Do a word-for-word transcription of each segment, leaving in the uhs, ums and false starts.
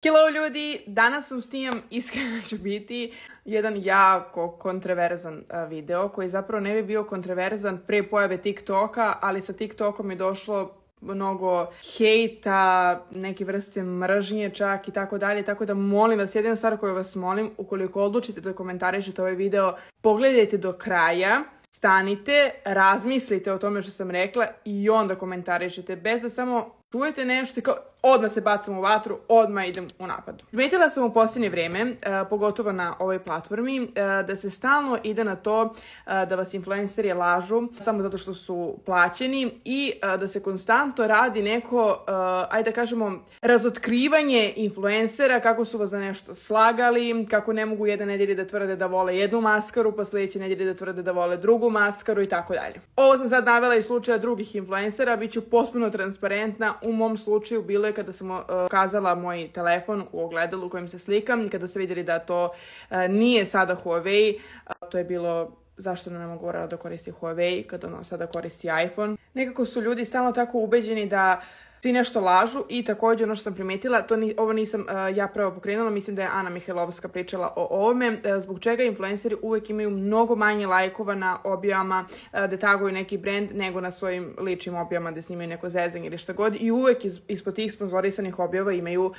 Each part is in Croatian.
Hello ljudi, danas sam snimam, iskreno ću biti, jedan jako kontroverzan uh, video koji zapravo ne bi bio kontroverzan pre pojave TikToka, ali sa TikTokom je došlo mnogo hejta, neke vrste mržnje čak i tako dalje, tako da molim vas, jedina stvar koju vas molim, ukoliko odlučite da komentarišete ovaj video, pogledajte do kraja, stanite, razmislite o tome što sam rekla i onda komentarišete, bez da samo čujete nešto i kao odmah se bacam u vatru, odmah idem u napad. Primetila sam u posljednje vrijeme, pogotovo na ovoj platformi, da se stalno ide na to da vas influenceri lažu samo zato što su plaćeni i da se konstantno radi neko, ajde da kažemo, razotkrivanje influencera, kako su vas za nešto slagali, kako ne mogu jedne nedelje da tvrde da vole jednu maskaru, pa sljedeće nedelje da tvrde da vole drugu maskaru i tako dalje. Ovo sam sad navela iz slučaja drugih influencera, bit ću potpuno transparentna. U mom slučaju bilo je kada sam uh, kazala moj telefon u ogledalu u kojem se slikam i kada su vidjeli da to uh, nije sada Huawei, uh, to je bilo zašto ne mogu da koristi Huawei kada ono sada koristi iPhone. Nekako su ljudi stalno tako ubeđeni da svi nešto lažu i također ono što sam primetila, to ni, ovo nisam uh, ja prvo pokrenula, mislim da je Ana Mihajlovska pričala o ovome, uh, zbog čega influenceri uvijek imaju mnogo manje lajkova na objavama uh, da taguju neki brand nego na svojim ličnim objavama da snimaju neko zezanje ili šta god i uvijek iz, ispod tih sponzorisanih objava imaju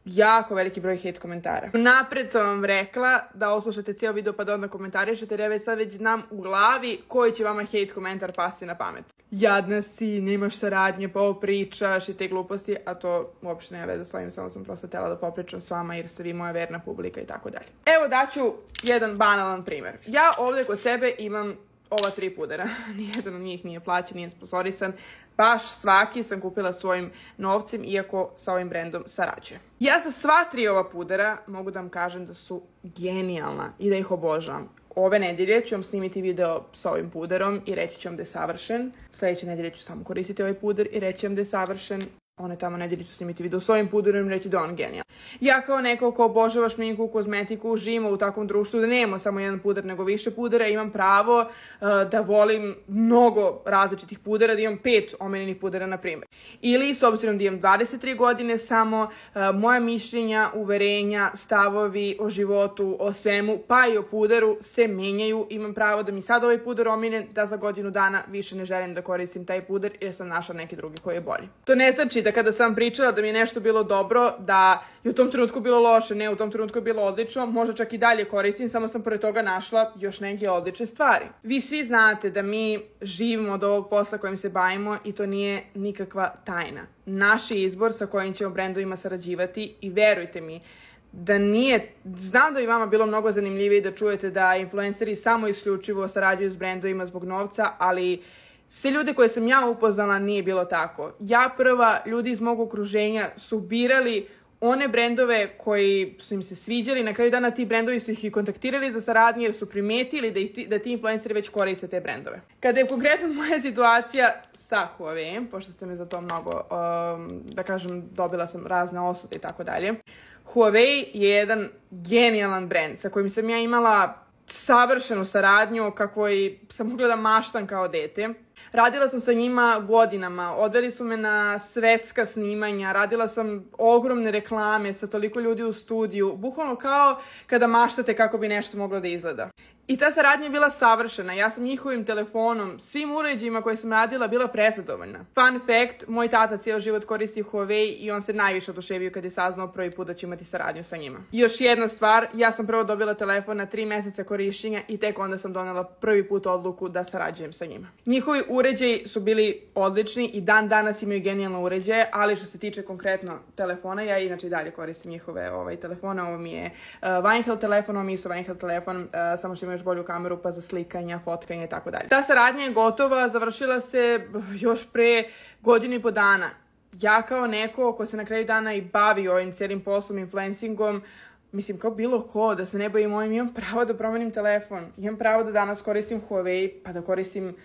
jako veliki broj hate komentara. Napred sam vam rekla da oslušate cijel video pa da onda komentarišete jer ja već sad već znam u glavi koji će vama hate komentar pasti na pamet. Jadna si, nemaš saradnje, pa ovo pričaš i te gluposti, a to uopšte nema veze s ovim, samo sam prosto htjela da popričam s vama jer ste vi moja verna publika i tako dalje. Evo daću jedan banalan primjer. Ja ovdje kod sebe imam ova tri pudera, nijedan od njih nije plaćen, nije sponsorisan, baš svaki sam kupila svojim novcem, iako sa ovim brendom sarađujem. Ja sa sva tri ova pudera mogu da vam kažem da su genijalna i da ih obožavam. Ove nedelje ću vam snimiti video sa ovim puderom i reći ću vam da je savršen. Sljedeće nedelje ću samo koristiti ovaj puder i reći vam da je savršen. One tamo nedelje ću snimiti video s ovim puderom i reći da on genijalan. Ja kao neko ko obožava šminku, kozmetiku, živimo u takvom društvu da nemamo samo jedan puder nego više pudera, imam pravo uh, da volim mnogo različitih pudera, da imam pet omiljenih pudera na primjer. Ili s obzirom da imam dvadeset tri godine samo, uh, moja mišljenja, uverenja, stavovi o životu, o svemu, pa i o puderu se menjaju. Imam pravo da mi sad ovaj puder omiljen, da za godinu dana više ne želim da koristim taj puder jer sam našla neki drugi koji je bolji. To ne znači da kada sam pričala da mi je nešto bilo dobro, da je u tom trenutku bilo loše, ne, u tom trenutku je bilo odlično, možda čak i dalje koristim, samo sam pored toga našla još neke odlične stvari. Vi svi znate da mi živimo od ovog posla kojim se bavimo i to nije nikakva tajna. Naš je izbor sa kojim ćemo brendovima sarađivati i verujte mi, da nije, znam da bi vama bilo mnogo zanimljivije da čujete da influenceri samo isključivo sarađuju s brendovima zbog novca, ali sve ljude koje sam ja upoznala nije bilo tako. Ja prva, ljudi iz mog okruženja su birali one brendove koji su im se sviđali, na kraju dana ti brendovi su ih i kontaktirali za saradnje jer su primetili da, ih, da ti influenceri već koriste te brendove. Kada je konkretno moja situacija sa Huawei, pošto ste me za to mnogo, um, da kažem, dobila sam razne osude i tako dalje, Huawei je jedan genijalan brend sa kojim sam ja imala savršenu saradnju kako i sam mogla da maštam kao dete. Radila sam sa njima godinama, odveli su me na svetska snimanja, radila sam ogromne reklame sa toliko ljudi u studiju, bukvalno kao kada maštate kako bi nešto moglo da izgleda. I ta saradnja je bila savršena, ja sam njihovim telefonom, svim uređajima koje sam radila bila prezadovoljna. Fun fact, moj tata cijel život koristi Huawei i on se najviše oduševio kad je saznao prvi put da ću imati saradnju sa njima. I još jedna stvar, ja sam prvo dobila telefon na tri mjeseca korišćenja i tek onda sam donela prvi put odluku da sarađujem sa njima. Njihovi uređaji su bili odlični i dan danas imaju genijalne uređaje, ali što se tiče konkretno telefona, ja inače i dalje koristim njihove ovaj, telefone, ovo mi je uh, Wineheld telefon, ovo mi je isto Wineheld telefon, uh, samo što imaju još bolju kameru pa za slikanja, fotkanje i tako dalje. Ta saradnja je gotova, završila se još pre godinu i po dana. Ja kao neko ko se na kraju dana i bavi ovim cijelim poslom, influencingom, mislim kao bilo ko, da se ne bojim ovim, imam pravo da promenim telefon. Imam pravo da danas koristim Huawei, pa da koristim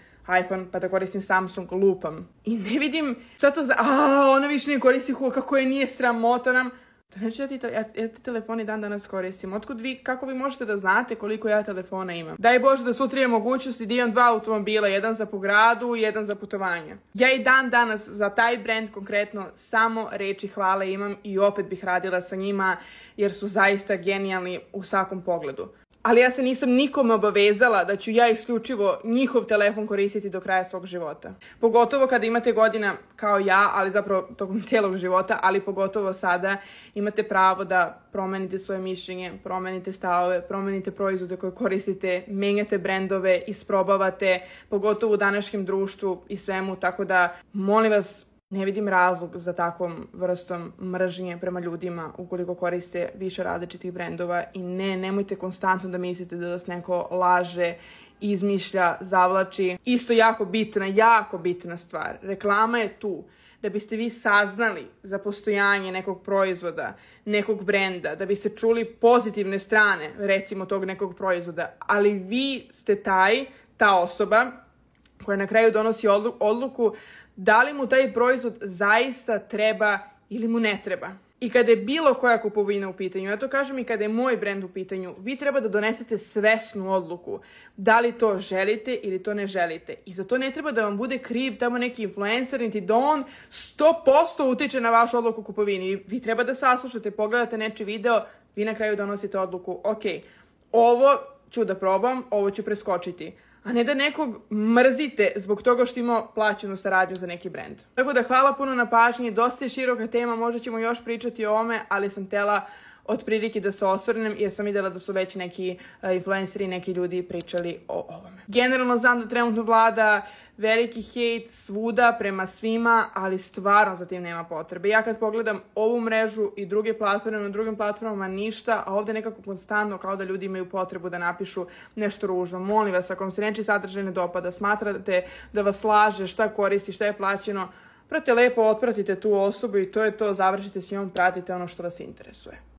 iPhone, pa da koristim Samsung, lupam. I ne vidim šta to za... A, ona više ne koristi Huawei, kako je nije sramota nam. Znači, ja ti, ja, ja ti telefoni dan danas koristim. Otkud vi, kako vi možete da znate koliko ja telefona imam? Daj Bože da sutra imam mogućnosti da imam dva automobila, jedan za po gradu i jedan za putovanja. Ja i dan danas za taj brand konkretno samo reči hvale imam i opet bih radila sa njima jer su zaista genijalni u svakom pogledu. Ali ja se nisam nikome obavezala da ću ja isključivo njihov telefon koristiti do kraja svog života. Pogotovo kada imate godina kao ja, ali zapravo tokom cijelog života, ali pogotovo sada imate pravo da promenite svoje mišljenje, promenite stavove, promenite proizvode koje koristite, menjate brendove, isprobavate, pogotovo u današnjem društvu i svemu, tako da molim vas, ne vidim razlog za takvom vrstom mržnje prema ljudima ukoliko koriste više različitih brendova i ne, nemojte konstantno da mislite da vas neko laže, izmišlja, zavlači. Isto jako bitna, jako bitna stvar. Reklama je tu da biste vi saznali za postojanje nekog proizvoda, nekog brenda, da biste čuli pozitivne strane, recimo, tog nekog proizvoda, ali vi ste taj, ta osoba koja na kraju donosi odluku da li mu taj proizvod zaista treba ili mu ne treba. I kada je bilo koja kupovina u pitanju, ja to kažem i kada je moj brend u pitanju, vi treba da donesete svesnu odluku. Da li to želite ili to ne želite. I za to ne treba da vam bude kriv tamo neki influencer, niti da on sto posto utiče na vašu odluku u kupovini. Vi treba da saslušate, pogledate nečiji video, vi na kraju donosite odluku, ok, ovo ću da probam, ovo ću preskočiti. A ne da nekog mrzite zbog toga što ima plaćenu saradnju za neki brend. Tako da hvala puno na pažnji, dosta je široka tema, možda ćemo još pričati o ovome, ali sam htjela otprilike da se osvrnem jer sam vidjela da su već neki uh, influenceri, neki ljudi pričali o ovome. Generalno znam da trenutno vlada veliki hejt svuda prema svima, ali stvarno za tim nema potrebe. Ja kad pogledam ovu mrežu i druge platforme, na drugim platformama ništa, a ovdje nekako konstantno kao da ljudi imaju potrebu da napišu nešto ružno. Molim vas, ako vam se nečiji sadržaj ne dopada, smatrate da vas laže, šta koristi, šta je plaćeno, prate lepo, otpratite tu osobu i to je to, završite s njom, pratite ono što vas interesuje.